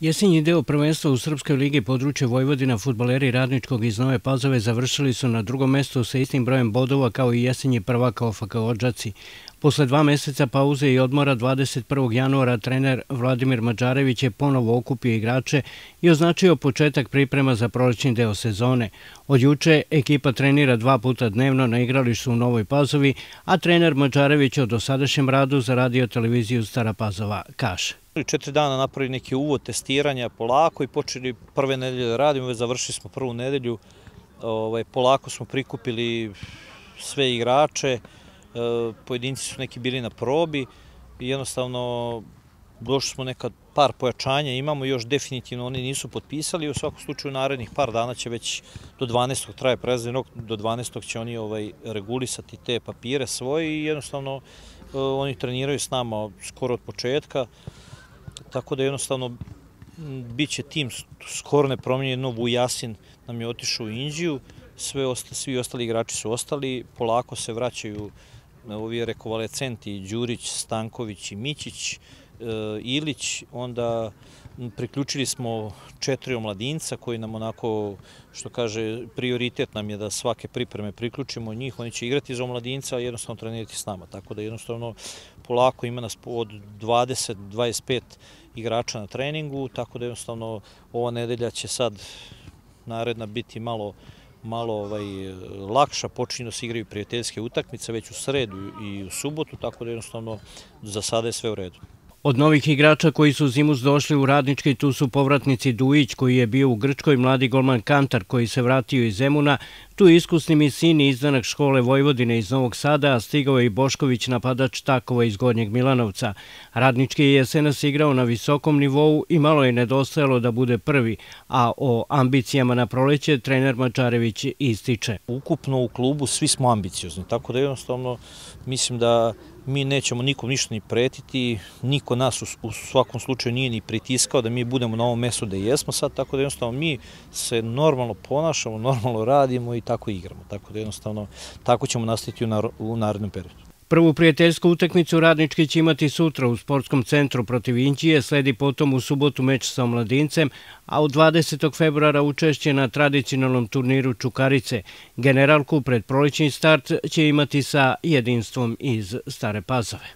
Jesenji deo prvenstva u Srpskoj ligi područje Vojvodina fudbaleri Radničkog iz Nove Pazove završili su na drugom mestu sa istim brojem bodova kao i jesenji prvak OFK Odžaci. Posle 2 meseca pauze i odmora 21. januara trener Vladimir Madžarević je ponovo okupio igrače i označio početak priprema za prolećni deo sezone. Od juče ekipa trenira 2 puta dnevno na igralištu u Novoj Pazovi, a trener Madžarević o dosadašnjem radu za radio televiziju Stara Pazova kaže. 4 dana napravili neki uvod testiranja polako i počeli prve nedelje da radimo, već završili smo prvu nedelju. Polako smo prikupili sve igrače, pojedinci su neki bili na probi i jednostavno došli smo nekad par pojačanja, imamo još definitivno, oni nisu potpisali, u svakom slučaju narednih par dana će već do 12. traje prelazni rok, do 12. će oni regulisati te papire svoje i jednostavno oni treniraju s nama skoro od početka. Tako da jednostavno bit će tim skoro nepromijenjen. Vujasin nam je otišao u Inđiju, svi ostali igrači su ostali, polako se vraćaju ovi rekovalecenti Đurić, Stanković i Mićić, Ilić, onda priključili smo 4 omladinca koji nam onako, što kaže, prioritet nam je da svake pripreme priključimo njih, oni će igrati za omladinca, a jednostavno trenirati s nama, tako da jednostavno polako ima nas od 20-25 igrača na treningu, tako da jednostavno ova nedelja će sad naredna biti malo lakša, počinju da se igraju prijateljske utakmice već u sredu i u subotu, tako da jednostavno za sada je sve u redu. Od novih igrača koji su zimus došli u Radnički, tu su povratnici Dujić koji je bio u Grčkoj, mladi golman Kantar koji se vratio iz Zemuna, tu je iskusni Misin i izdanak škole Vojvodine iz Novog Sada, a stigao je i Bošković, napadač Takova iz Gornjeg Milanovca. Radnički je jesenas igrao na visokom nivou i malo je nedostajalo da bude prvi, a o ambicijama na proleće trener Madžarević ističe. Ukupno u klubu svi smo ambiciozni, tako da jednostavno mislim da mi nećemo nikom ništa ni pretiti, niko nas u svakom slučaju nije ni pritiskao da mi budemo na ovom mestu da jesmo sad, tako da jednostavno mi se normalno ponašamo, normalno radimo i tako igramo, tako da jednostavno tako ćemo nastaviti u narednom periodu. Prvu prijateljsku utakmicu Radnički će imati sutra u sportskom centru protiv Inđije, sledi potom u subotu meč sa omladincem, a od 20. februara učešće na tradicionalnom turniru Čukarice. Generalku pred prolećni start će imati sa Jedinstvom iz Stare Pazove.